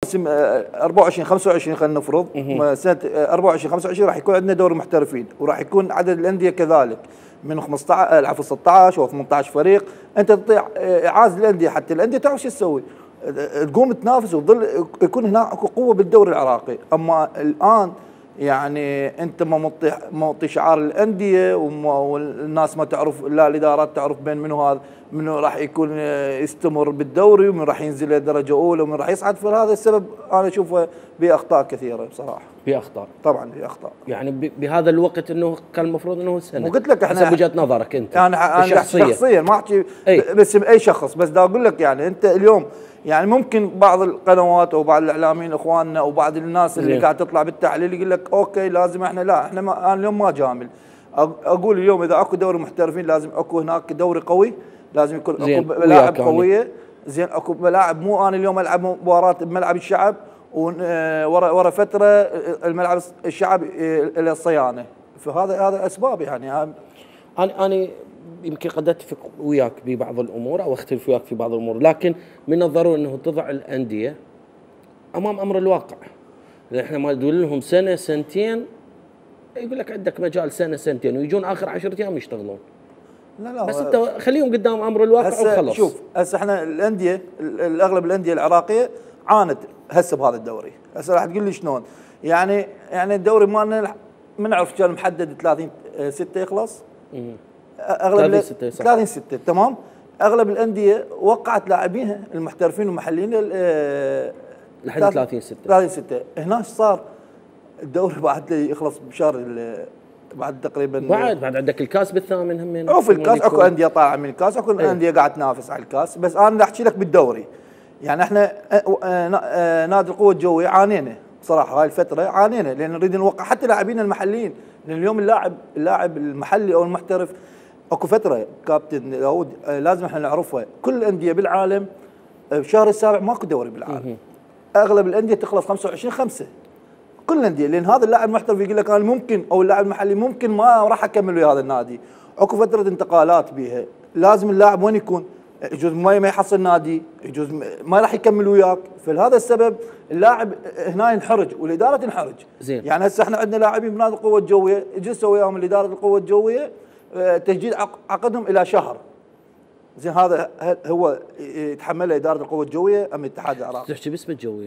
موسم 24 25 خلينا نفرض سنه 24 25 راح يكون عندنا دوري محترفين، وراح يكون عدد الانديه كذلك من 15 عفوا 16 او 18 فريق. انت تعطي اعاز الانديه حتى الانديه تعرف شو تسوي، تقوم تنافس وتظل يكون هناك قوه بالدوري العراقي. اما الان يعني انت ما معطي شعار الانديه والناس ما تعرف، لا الادارات تعرف بين منو هذا منو راح يكون يستمر بالدوري ومن راح ينزل لدرجه اولى ومن راح يصعد. فهذا السبب انا اشوفه باخطاء كثيره بصراحه. باخطاء طبعا باخطاء يعني بهذا الوقت انه كان المفروض انه السنه. وقلت لك احنا حسب وجهه نظرك انت انا شخصيا ما احكي باسم اي شخص، بس دا اقول لك يعني انت اليوم يعني ممكن بعض القنوات او بعض الاعلاميين اخواننا او بعض الناس اللي قاعد تطلع بالتحليل يقول لك اوكي لازم احنا، لا احنا انا اليوم ما جامل. اقول اليوم اذا اكو دوري محترفين لازم اكو هناك دوري قوي، لازم يكون اكو ملاعب قويه زين، اكو ملاعب. مو انا اليوم العب مباراه بملعب الشعب ورا فتره الملعب الشعب الى الصيانه. فهذا اسباب يعني. انا يمكن قد اتفق وياك ببعض الامور او اختلف وياك في بعض الامور، لكن من الضروري انه تضع الانديه امام امر الواقع. احنا ما نقول لهم سنه سنتين، يقول لك عندك مجال سنه سنتين ويجون اخر 10 ايام يشتغلون. لا بس انت خليهم قدام امر الواقع وخلص. شوف هسه احنا الانديه الاغلب الانديه العراقيه عانت هسه بهذا الدوري. هسه راح تقول لي شلون؟ يعني الدوري مالنا ما نعرف كان محدد 30/6 يخلص. اغلب 30/6 تمام. اغلب الانديه وقعت لاعبينها المحترفين والمحليين لحد 30/6. هناك صار الدوري بعد يخلص بشهر بعد تقريبا بعد عندك الكاس بالثامن همين. او في الكاس اكو انديه طالعه من الكاس، اكو انديه قاعد تنافس على الكاس. بس انا احكي لك بالدوري يعني احنا نادي القوه الجويه عانينا صراحه. هاي الفتره عانينا لان نريد نوقع حتى لاعبين المحليين، لان اليوم اللاعب المحلي او المحترف اكو فتره كابتن داود لازم احنا نعرفها. كل الانديه بالعالم بشهر السابع ماكو دوري بالعالم. اغلب الانديه تخلص 25/5 كل الانديه، لان هذا اللاعب المحترف يقول لك انا ممكن او اللاعب المحلي ممكن ما راح اكمل ويا هذا النادي. اكو فتره انتقالات بيها، لازم اللاعب وين يكون؟ يجوز ما يحصل نادي، يجوز ما راح يكمل وياك. فلهذا السبب اللاعب هنا ينحرج والاداره تنحرج. زين. يعني هسه احنا عندنا لاعبين بنادي القوه الجويه جلسوا وياهم الاداره القوه الجويه تجديد عقدهم الى شهر. زين هذا هو يتحمله اداره القوه الجويه ام الاتحاد العراقي؟ تحكي باسم الجويه.